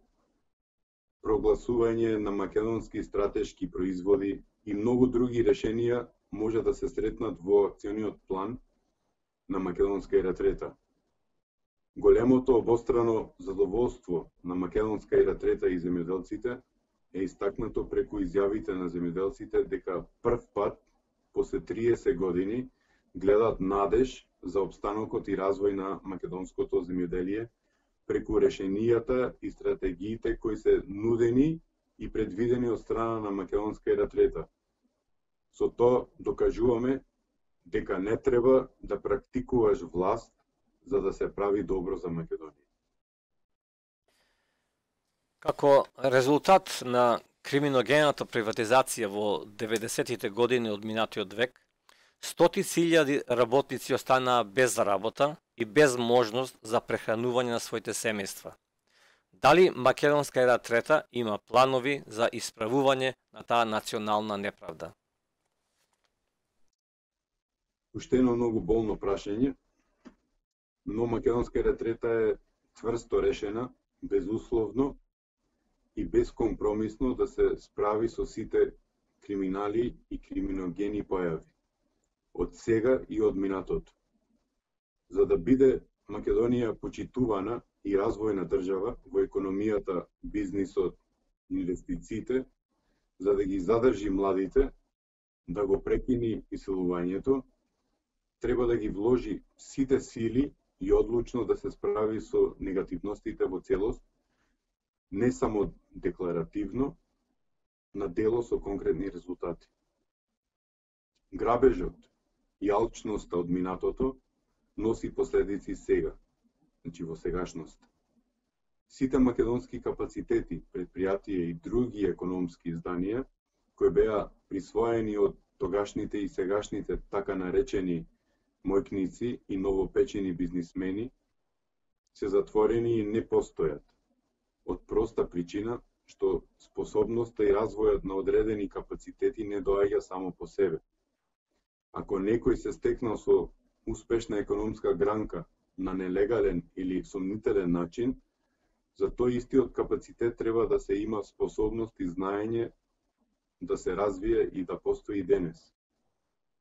прогласување на македонски стратешки производи и многу други решенија може да се сретнат во акциониот план на Македонска ера трета. Големото обострано задоволство на Македонска ера трета и земјоделците е истакнато преку изјавите на земјоделците дека прв пат после триесет години гледат надеж за опстанокот и развој на македонското земјоделие преку решенијата и стратегиите кои се нудени и предвидени од страна на Македонска ера трета. Со тоа докажуваме дека не треба да практикуваш власт за да се прави добро за Македонија. Како резултат на криминогената приватизација во деветдесетите години од минатиот век, стотици илјади работници останаа без работа и без можност за прехранување на своите семејства. Дали Македонска ера трета има планови за исправување на таа национална неправда? Уште едно многу болно прашање, но Македонска ера трета е цврсто решена, безусловно и безкомпромисно да се справи со сите криминали и криминогени појави, од сега и од минатото. За да биде Македонија почитувана и развојна држава во економијата, бизнисот, инвестициите, за да ги задржи младите, да го прекини иселувањето, треба да ги вложи сите сили и одлучно да се справи со негативностите во целост, не само декларативно, на дело со конкретни резултати. Грабежот и алчноста од минатото носи последици сега, значи во сегашност. Сите македонски капацитети, предпријатија и други економски изданија, кои беа присвоени од тогашните и сегашните така наречени мојкници и новопечени бизнисмени, се затворени и не постојат, од проста причина што способноста и развојот на одредени капацитети не доаѓа само по себе. Ако некој се стекнал со успешна економска гранка на нелегален или сомнителен начин, за тој истиот капацитет треба да се има способност и знаење да се развие и да постои денес.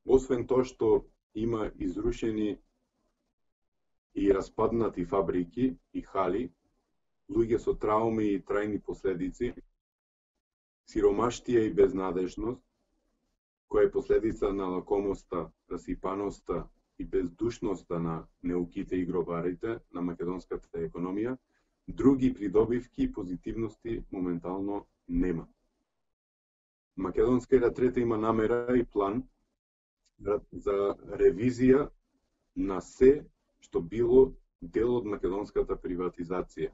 Освен тоа што има изрушени и распаднати фабрики и хали, луѓе со трауми и трајни последици, сиромаштија и безнадежност, која е последица на лакомоста, расипаноста и бездушноста на неуките и гробарите на македонската економија, други придобивки и позитивности моментално нема. Македонска ера трета има намера и план за ревизија на се што било дел од македонската приватизација,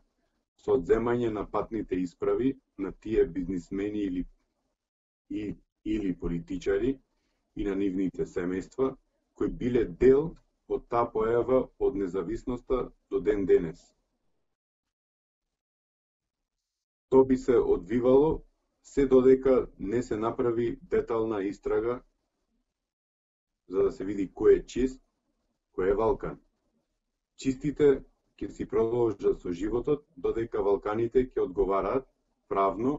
со одземање на патните исправи на тие бизнисмени или, и, или политичари и на нивните семејства, кои биле дел од таа појава од независноста до ден денес. Тоа би се одвивало се додека не се направи детална истрага за да се види кој е чист, кој е валкан. Чистите ќе си продолжат со животот, додека валканите ќе одговараат правно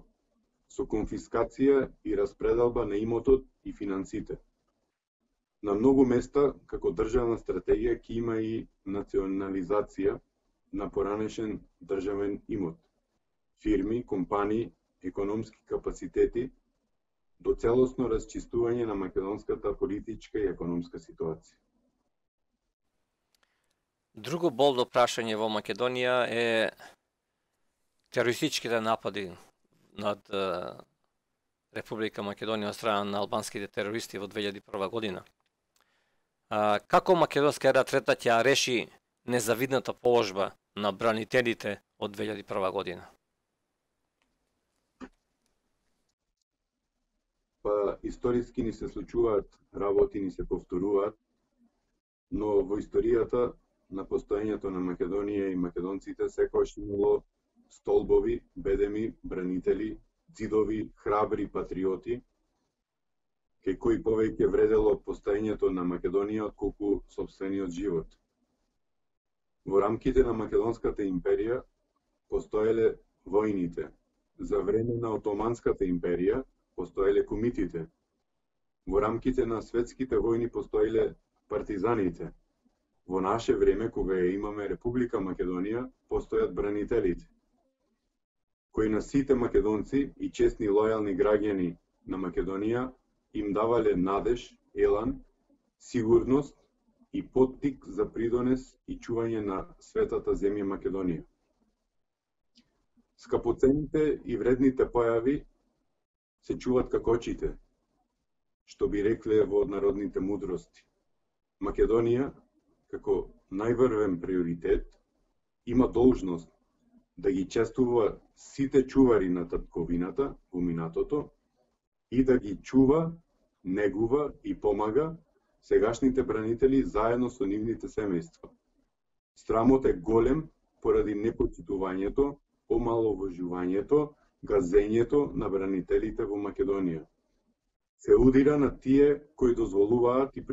со конфискација и распределба на имотот и финансите. На многу места, како државна стратегија, ќе има и национализација на поранешен државен имот, фирми, компании, економски капацитети, до целосно расчистување на македонската политичка и економска ситуација. Друго болно прашање во Македонија е терористичките напади над Република Македонија од страна на албанските терористи во две илјади и прва година. Како Македонска ера трета ќе реши незавидната положба на бранителите од две илјади и прва година? Па историски ни се случуваат работи, ни се повторуваат, но во историјата на постоењето на Македонија и македонците секогаш имало столбови, бедеми, бранители, ѕидови, храбри патриоти, кај кои повеќе вредело постоењето на Македонија отколку сопствениот живот. Во рамките на Македонската империја постоеле војните. За време на Отоманската империја постоеле кумитите. Во рамките на светските војни постоеле партизаните. Во наше време, кога ја имаме Република Македонија, постојат бранителите, кои на сите македонци и честни лојални граѓани на Македонија им давале надеж, елан, сигурност и поттик за придонес и чување на светата земја Македонија. Скапоцените и вредните појави се чуват како очите, што би рекле во народните мудрости. Македонија, како најврвен приоритет, има должност да ги честува сите чувари на татковината во минатото и да ги чува, негува и помага сегашните бранители заедно со нивните семејства. Срамот е голем поради непочитувањето, омаловажувањето, газењето на бранителите во Македонија. Се удира на тие кои дозволуваат и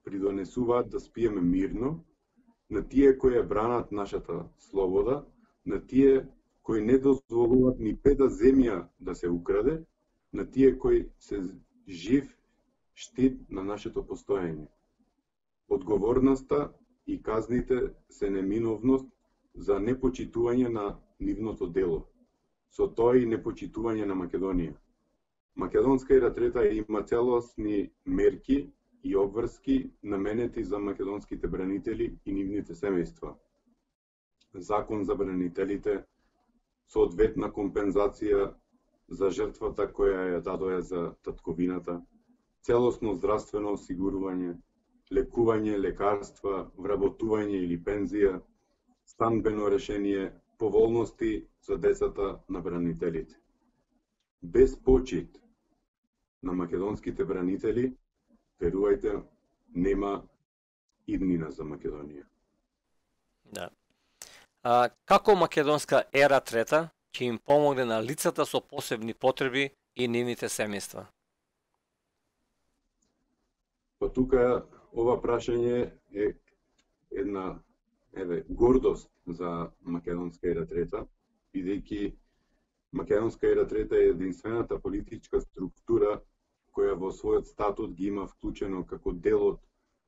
придонесуваат да спиеме мирно, на тие кои ја бранат нашата слобода, на тие кои не дозволуваат ни педа земја да се украде, на тие кои се жив штит на нашето постоење. Одговорноста и казните се неминовност за непочитување на нивното дело, со тоа и непочитување на Македонија. Македонска ератрета има целосни мерки и обврски наменети за македонските бранители и нивните семејства. Закон за бранителите, соодветна компензација за жртвата која ја дадоја за татковината, целосно здравствено осигурување, лекување, лекарства, вработување или пензија, станбено решение, поволности за децата на бранителите. Без почит на македонските бранители, верувајте, нема иднина за Македонија. Да. А, како македонска ера трета ќе им помогне на лицата со посебни потреби и нивните семејства? Па тука ова прашање е една еве гордост за македонска ера трета, бидејќи македонска ера трета е единствената политичка структура која во својот статут ги има вклучено како дел од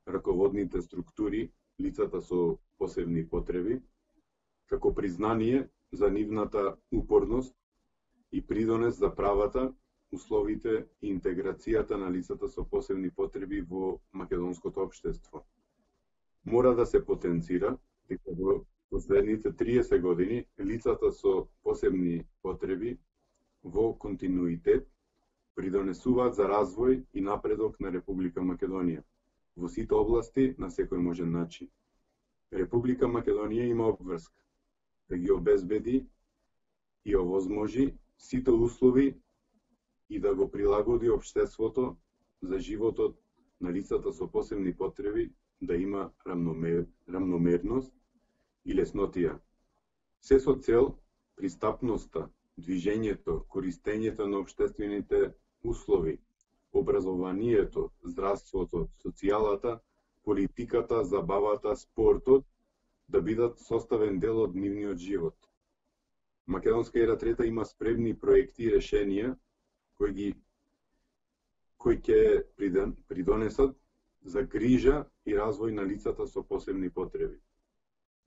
раководните структури лицата со посебни потреби, како признание за нивната упорност и придонес за правата, условите и интеграцијата на лицата со посебни потреби во македонското општество. Мора да се потенцира дека во последните триесет години лицата со посебни потреби во континуитет придонесуваат за развој и напредок на Република Македонија во сите области на секој можен начин. Република Македонија има обврска да ги обезбеди и овозможи сите услови и да го прилагоди општеството за животот на лицата со посебни потреби да има рамномер, рамномерност и леснотија. Се со цел пристапноста, движењето, користењето на општествените услови, образованието, здравството, социјалата, политиката, забавата, спортот да бидат составен дел од нивниот живот. Македонска ера трета има спремни проекти и решенија кои ги кои ќе придонесат за грижа и развој на лицата со посебни потреби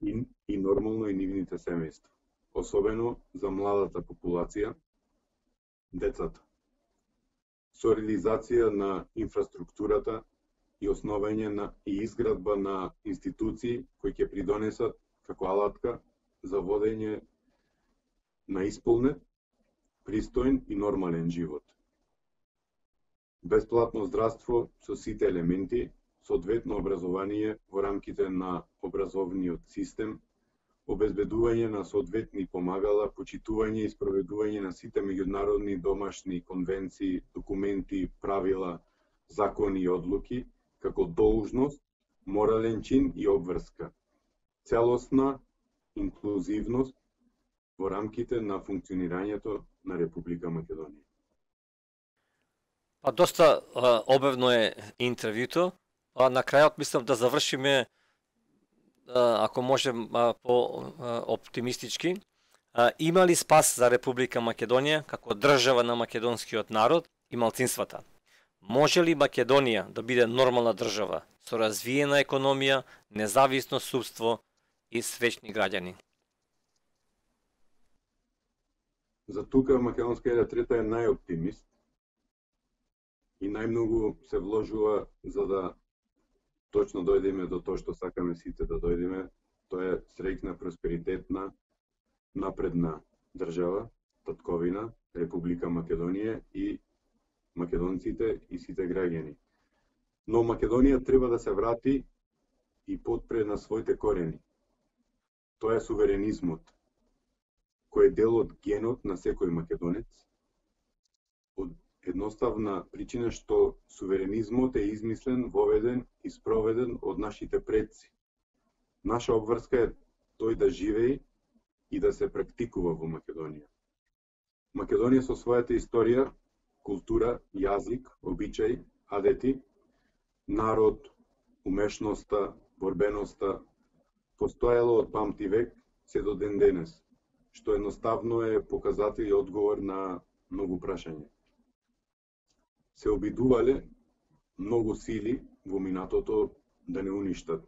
и, и нормално и нивните семејства, особено за младата популација, децата. Со реализација на инфраструктурата и основање на и изградба на институции кои ќе придонесат како алатка за водење на исполнет, пристоен и нормален живот. Бесплатно здравство со сите елементи, соодветно образование во рамките на образовниот систем, обезбедување на соодветни помагала, почитување и спроведување на сите меѓународни домашни конвенции, документи, правила, закони и одлуки, како должност, морален чин и обврска. Целосна инклузивност во рамките на функционирањето на Република Македонија. Па доста а, обевно е интервјуто, а на крајот мислам да завршиме, а, ако можем а, по а, оптимистички. А, има ли спас за Република Македонија како држава на македонскиот народ и малцинствата? Може ли Македонија да биде нормална држава со развиена економија, независно судство и свечни граѓани? За тука Македонска ера трета е најоптимист и најмногу се вложува за да точно дојдеме до тоа што сакаме сите да дојдеме, тоа е среќна, просперитетна, напредна држава, татковина, Република Македонија и македонците и сите граѓани. Но Македонија треба да се врати и потпре на своите корени. Тоа е суверенизмот, кој е дел од генот на секој македонец, од едноставна причина што суверенизмот е измислен, воведен и спроведен од нашите предци. Наша обврска е тој да живее и да се практикува во Македонија. Македонија со својата историја, култура, јазик, обичаи, адети, народ, умешноста, борбеноста, постоело од памти век се до ден денес, што едноставно е показател и одговор на многу прашања. Се обидувале многу сили во минатото да не уништат,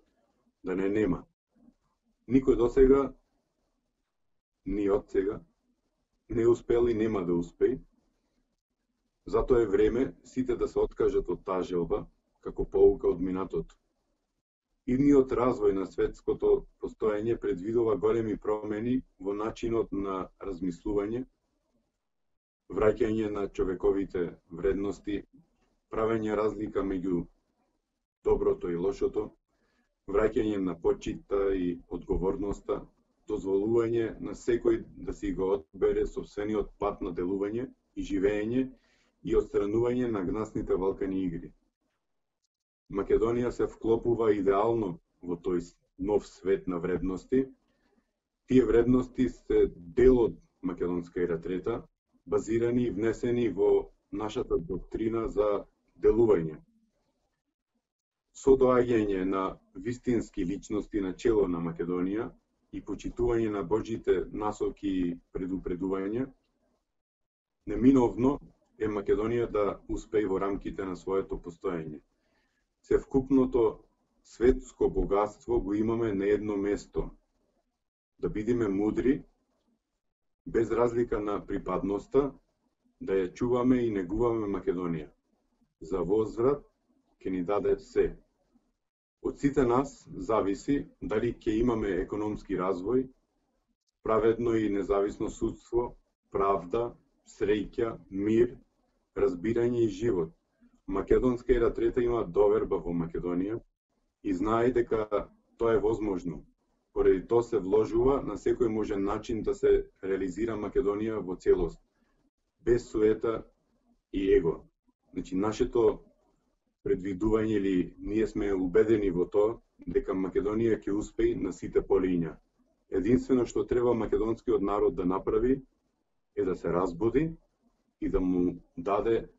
да не нема. Никој до сега, ни од сега, не успел и нема да успеи. Затоа е време сите да се откажат од таа желба, како поука од минатото. Идниот развој на светското постоење предвидува големи промени во начинот на размислување, враќање на човековите вредности, правење разлика меѓу доброто и лошото, враќање на почита и одговорноста, дозволување на секој да си го одбере сопствениот пат на делување и живење и отстранување на гнасните валкани игри. Македонија се вклопува идеално во тој нов свет на вредности. Тие вредности се дел од Македонска ера трета, базирани и внесени во нашата доктрина за делување. Со доаѓање на вистински личности на чело на Македонија и почитување на Божите насоки и предупредувања, неминовно е Македонија да успее во рамките на своето постоење. Севкупното светско богатство го имаме на едно место. Да бидеме мудри, без разлика на припадноста, да ја чуваме и негуваме Македонија. За возврат ќе ни даде се. Од сите нас зависи дали ќе имаме економски развој, праведно и независно судство, правда, среќа, мир, разбирање и живот. Македонска ера трета има доверба во Македонија и знае дека тоа е возможно. Поради тоа се вложува на секој можен начин да се реализира Македонија во целост, без суета и его. Значи, нашето предвидување или ние сме убедени во тоа дека Македонија ќе успее на сите полиња. Единствено што треба македонскиот народ да направи е да се разбуди и да му даде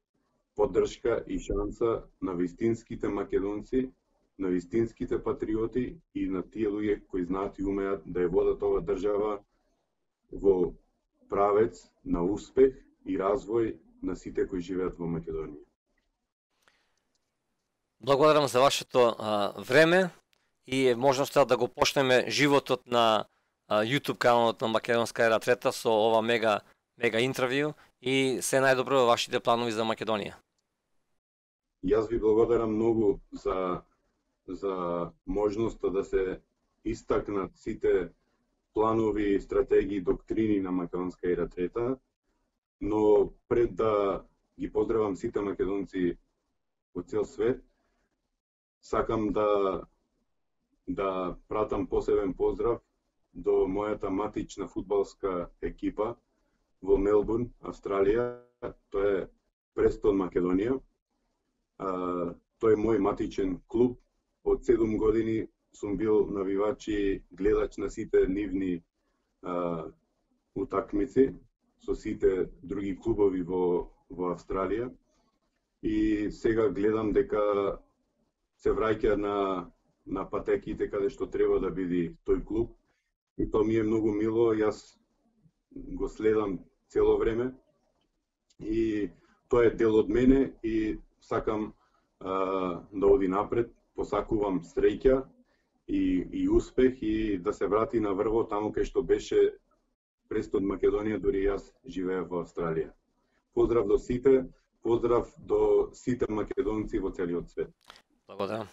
поддршка и шанса на вистинските македонци, на вистинските патриоти и на тие луѓе кои знаат и умеат да ја водат ова држава во правец на успех и развој на сите кои живеат во Македонија. Благодарам за вашето а, време и можноста да го почнеме животот на а, YouTube каналот на Македонска ера трета со ова мега мега интервју и се најдобро во вашите планови за Македонија. Јас ви благодарам многу за за можноста да се истакнат сите планови, стратегии, доктрини на Македонска ера трета, но пред да ги поздравам сите македонци во цел свет, сакам да да пратам посебен поздрав до мојата матична фудбалска екипа во Мелбурн, Австралија. Тоа е Престон Македонија. А, тој е мој матичен клуб. Од седум години сум бил навивач и гледач на сите нивни а, утакмици со сите други клубови во, во Австралија. И сега гледам дека се враќа на, на патеките каде што треба да биде тој клуб. И тоа ми е многу мило, јас го следам цело време. И тоа е дел од мене и сакам а, да оди напред, посакувам среќа и, и успех и да се врати на врво таму кај што беше Престон Македонија, дури јас живеев во Австралија. Поздрав до сите, поздрав до сите македонци во целиот свет. Благодарам.